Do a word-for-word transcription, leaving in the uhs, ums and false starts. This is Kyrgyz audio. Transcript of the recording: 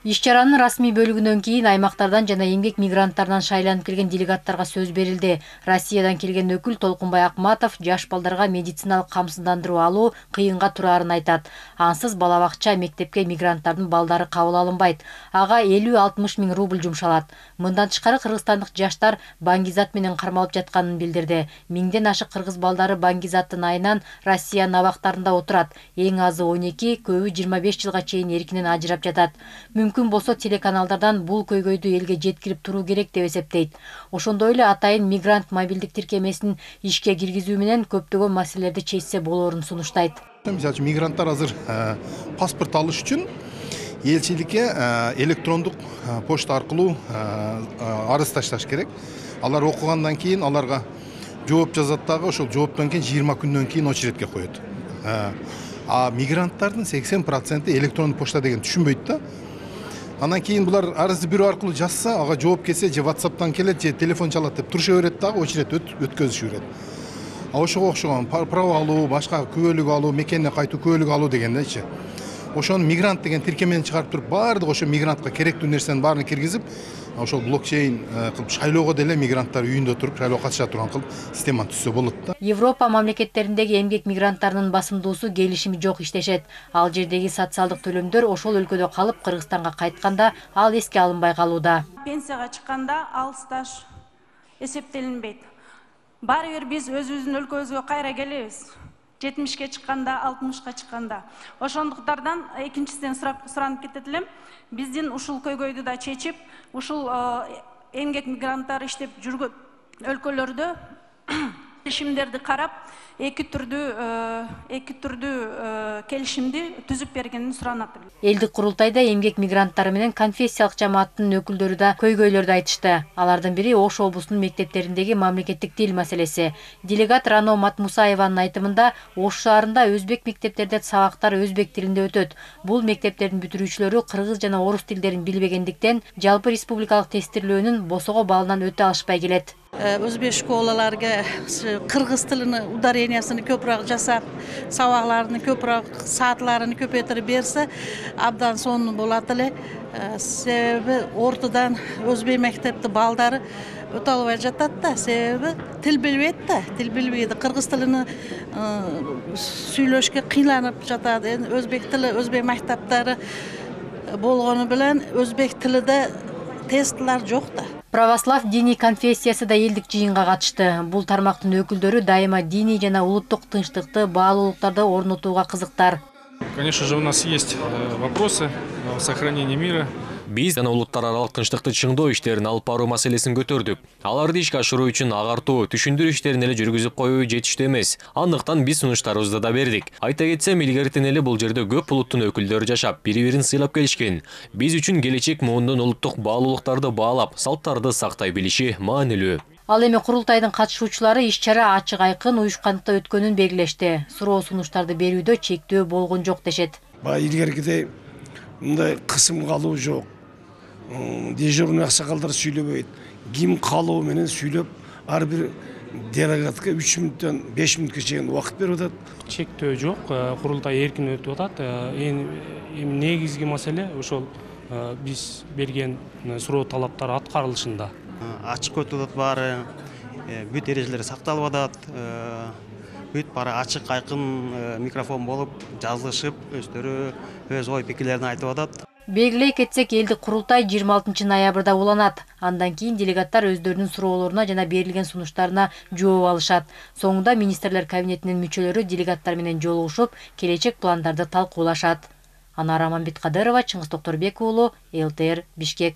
Иш чаранын расмий бөлүгүнөн кийин аймактардан жана эмгек мигранттарынан шайланып келген делегаттарга сөз берилди. Россиядан келген өкүл Толкунбай Акматов жаш балдарга медициналык камсыздандыруу алуу кыйынга турарын айтат. Ансыз бала бакча, мектепке мигранттардын балдары кабыл алынбайт. Ага элүү алтымыш миң рубль жумшалат. Мындан тышкары кыргызстандык жаштар баңгизат менен кармалып жатканын билдирди. Миңден ашык кыргыз балдары баңгизаттын айынан Россиянын абактарында отурат. Эң азы он эки, көбү жыйырма беш жылга чейин эркинен ажырап жатат. Мүмкүн болсо телеканалдардан бул көйгөйдү элге жеткирип туруу керек деп эсептейт. Ошондой эле атайын мигрант мобилдик тиркемесин ишке киргизүү менен көптөгөн маселелерди чечсе болоорун сунуштайт. Мисалы үчүн мигранттар азыр паспорт алыш үчүн элчиликке электрондук почта аркылуу арыз ташташ керек. Алар окугандан кийин аларга жооп жазат дагы, ошол жооптон кийин жыйырма күндөн кийин очередке коет. А мигранттардын сексен проценти электрондук почта деген түшүнбөйт да. Андан кийин булар арызды бирөө аркылуу жазса, ага жооп келсе, же WhatsApp'тан келет, же телефон чалат деп туруша берет дагы, очеред өткөзүшү берет. А ошого окшогон право алуу, башка күбөлүк алуу, мекенине кайтуу күбөлүк алуу дегендечи. Ошону мигрант деген тиркемени чыгарып туруп, баардык ошо мигрантка керектүү нерсенин баарын киргизип, ошол блокчейн кылып шайлоого деле мигранттар үйүндө туруп шайлоого катыша турган кылып системаны түзсө болот да. Европа мамлекеттериндеги эмгек мигранттарынын басымдуусу келишими жок иштешет. Ал жердеги социалдык төлөмдөр ошол өлкөдө калып Кыргызстанга кайтканда ал эске алынбай калууда. Пенсияга чыкканда ал стаж эсептелинбейт. Баары бир биз өзүбүздүн өлкөбүзгө кайра келебиз. жетимишке чыкканда, алтымышка чыкканда. Ошондуктардан экинчисинен суранып кетет элем. Биздин ушул көйгөйдү да чечип, ушул эмгек мигранттар иштеп жүргөн өлкөлөрдө келишимдерди карап, эки түрдүү эки түрдүү келишимди түзүп бергенин суранат. Элдик курултайда эмгек мигранттары менен конфессиялык жамааттын өкүлдөрү да көйгөйлөрдү айтышты. Алардын бири Ош облусунун мектептериндеги мамлекеттик тил маселеси. Делегат Рано Матмусаеванын айтымында, Ош шаарында өзбек мектептерде сабактар өзбек тилинде өтөт. Бул мектептердин бүтүрүүчүлөрү кыргыз жана орус тилдерин билбегендиктен жалпы республикалык тестирлөөнүн босого балынан өтө алышпай келет. Өзбек школаларга кыргыз тилини ударениясын көпүрөөк жасап, сабакларын көпүрөөк саатларын көпөйтүрүп берсе, абдан сонун болот эле. Себеби ортодон өзбек мектепти балдары өтө албай жатат да, себеби тил билбейт да, тил билбейди. Кыргыз тилини сүйлөшкө кыйланып жатат. Өзбек тили, өзбек мектептери болгону менен өзбек тилиде тестлер жок да. Православ диний конфессиясы да элдик жыйынга катышты. Бул тармактын өкүлдөрү дайыма диний жана улуттук тынчтыкты, баалуулуктарды орнотууга кызыктар. Конечно же, у нас есть вопросы о сохранении мира. Биз жана улуттар аралык тынчтыкты чыңдоо иштерин алып баруу маселесин көтөрдүк. Аларды ишке ашыруу үчүн агартуу, түшүндүрүү иштерин эле жүргүзүп коюу жетиштүү эмес. Андыктан биз сунуштарыбызды да бердик. Айта кетсем, илгертен эле бул жерде көп улуттун өкүлдөрү жашап, бири-бирин сыйлап келишкен. Биз үчүн келечек муунун улуттук баалуулуктарды баалап, салттарды сактай билиши маанилүү. Ал эми курултайдын катышуучулары иш чара ачык айкын уюшкандыкта өткөнүн белгилешти. Суроо сунуштарды берүүдө чектөө болгон жок дешет. Баягы илгеркидей мындай кысым калуу жок. Дежурный аксакалдар сүйлөбөйт. Ким калуу менен сүйлөп, ар бир делегатка үч мүнөттөн беш мүнөткө чейин убакыт берип атат. Чектөө жок, курултай эркин өтүп атат. Эми негизги маселе ошол биз берген суроо талаптар аткарылышында. Ачык өтүп атат баары, бүт эрежелер сакталып атат. Бүт баары ачык айкын микрофон болуп, жазылышып, өздөрү өз ой пикирлерин айтып атат. Белгилей кетсек, элдик курултай жыйырма алтынчы ноябрда уланат. Андан кийин делегаттар өздөрүнүн суроолоруна жана берилген сунуштарына жооп алышат. Соңунда министрлер кабинетинин мүчөлөрү делегаттар менен жолугушуп, келечек пландарды талкуулашат. Анара Мамбеткадырова, Чыңгыз Токторбек уулу, эл тэ эр, Бишкек.